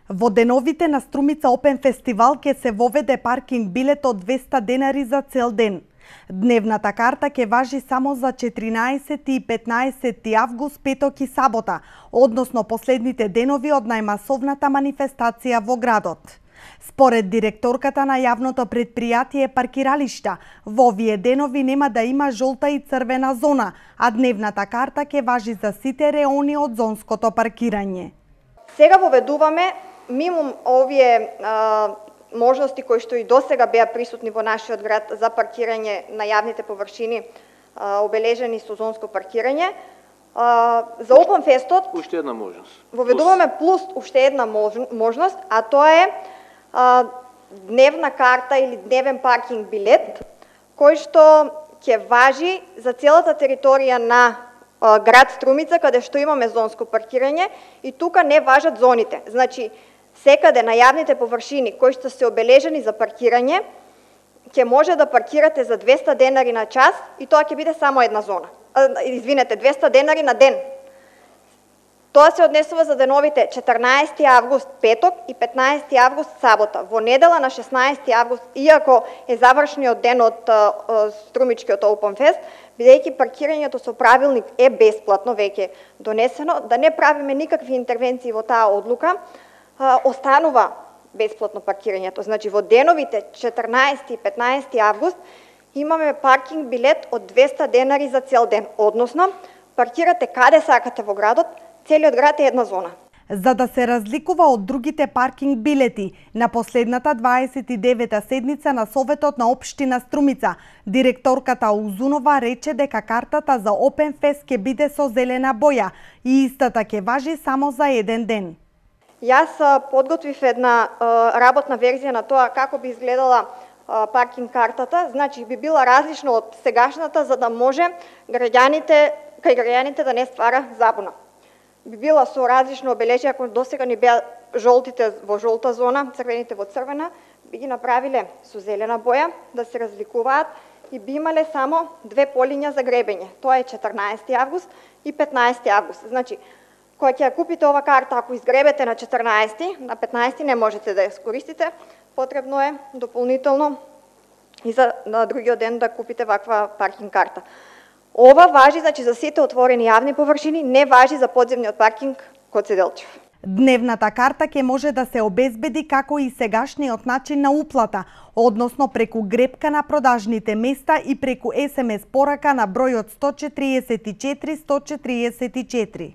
Во деновите на Струмица Опен фестивал ќе се воведе паркинг билет од 200 денари за цел ден. Дневната карта ќе важи само за 14 и 15 август, петок и сабота, односно последните денови од најмасовната манифестација во градот. Според директорката на јавното предпријатие паркиралишта, во овие денови нема да има жолта и црвена зона, а дневната карта ќе важи за сите реони од зонското паркирање. Сега воведуваме мимо овие можности кои што и досега беа присутни во нашиот град за паркирање на јавните површини обележени со зонско паркирање. За Опен фестот уште една можност. Воведуваме плюс уште една можност, а тоа е дневна карта или дневен паркинг билет, кој што ќе важи за целата територија на град Струмица, каде што имаме зонско паркирање, и тука не важат зоните. Значи, секаде на јавните површини кои што се обележени за паркирање, ќе може да паркирате за 200 денари на час и тоа ќе биде само една зона. 200 денари на ден. Тоа се однесува за деновите 14 август петок и 15 август сабота. Во недела на 16 август, иако е завршниот ден од Струмичкиот Опен фест, бидејќи паркирањето со правилник е бесплатно веќе донесено, да не правиме никакви интервенции во таа одлука, останува бесплатно паркирањето. Значи во деновите 14 и 15 август имаме паркинг билет од 200 денари за цел ден, односно паркирате каде сакате во градот, целиот град е една зона. За да се разликува од другите паркинг билети, на последната 29-та седница на Советот на Општина Струмица, директорката Узунова рече дека картата за Опен фест ќе биде со зелена боја и истата ќе важи само за еден ден. Јас подготвив една работна верзија на тоа како би изгледала паркинг картата, значи би била различна од сегашната, за да може кај граѓаните да не ствара забуна. Би била со различно обележие, ако досега ни беа жолтите во жолта зона, црвените во црвена, би ги направиле со зелена боја, да се разликуваат и би имале само две полиња за гребење. Тоа е 14 август и 15 август. Значи, кога ќе ја купите ова карта, ако изгребете на 14, на 15 не можете да ја скористите, потребно е дополнително и на другиот ден да купите ваква паркинг карта. Ова важи, значи, за сите отворени јавни површини, не важи за подземниот паркинг Коце Делчев. Дневната карта ќе може да се обезбеди како и сегашниот начин на уплата, односно преку гребка на продажните места и преку SMS порака на бројот 144 144.